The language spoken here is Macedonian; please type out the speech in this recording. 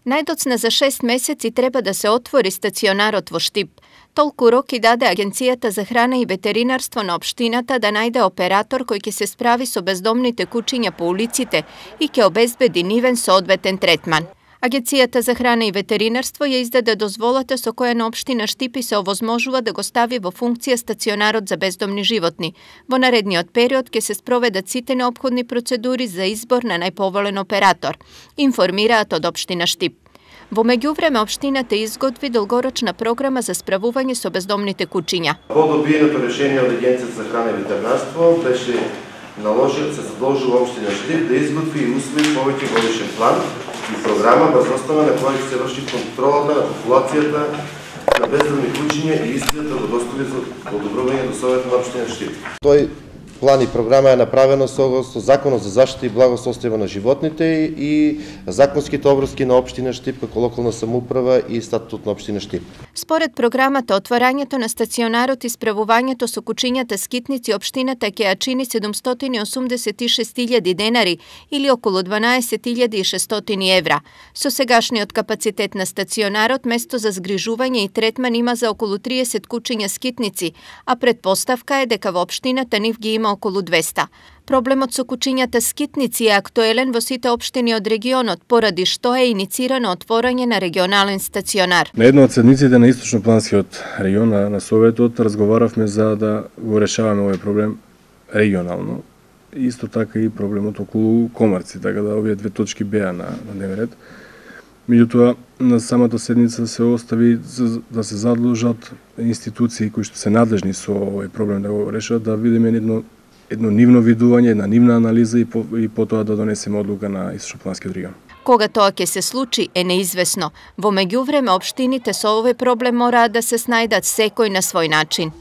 Најдоцна за 6 месеци треба да се отвори стационарот во Штип. Толку роки даде Агенцијата за храна и ветеринарство на општината да најде оператор кој ќе се справи со бездомните кучиња по улиците и ќе обезбеди нивен соодветен третман. Агенцијата за храна и ветеринарство ја издаде дозволата со која на општина Штип се овозможува да го стави во функција стационарот за бездомни животни. Во наредниот период ќе се спроведат сите неопходни процедури за избор на најповолен оператор, информираат од општина Штип. Во меѓувреме општината изготви долгорочна програма за справување со бездомните кучиња. По добиеното решение од Агенцијата за храна и ветеринарство беше се задолжува општина Штип да изготви и усвои повеќе годишен план и програма врз основа на која ќе се врши контролата на популацијата на бездомни кучиња и истиот да го достави за подобрување до Советот на општина Штип. Тој план и програма е направено согласно Законот за заштита и благосостојба на животните и законските обврски на општина Штип како локална самоуправа и статут на општина Штип. Според програмата, отворањето на стационарот и справувањето со кучињата скитници општината ќе ја чини 786.000 денари или околу 12.600 евра. Со сегашниот капацитет на стационарот, место за згрижување и третман има за околу 30 кучиња скитници, а предпоставка е дека во општината нив ги има околу 200. Проблемот со кучињата скитници е актуелен во сите општини од регионот, поради што е иницирано отворање на регионален стационар. На една од седниците на Источнопланскиот регион на Советот разговаравме за да го решаваме овој проблем регионално. Исто така и проблемот околу комарци, така да овие две точки беа на дневен ред. Меѓутоа, на самата седница се остави да се задлужат институции кои што се надлежни со овој проблем да го решат, да видиме едно нивно видување, една нивна анализа и потоа да донесеме одлука на Источнопланскиот регион. Кога тоа ќе се случи е неизвестно. Во меѓувреме општините со овој проблем мораат да се снајдат секој на свој начин.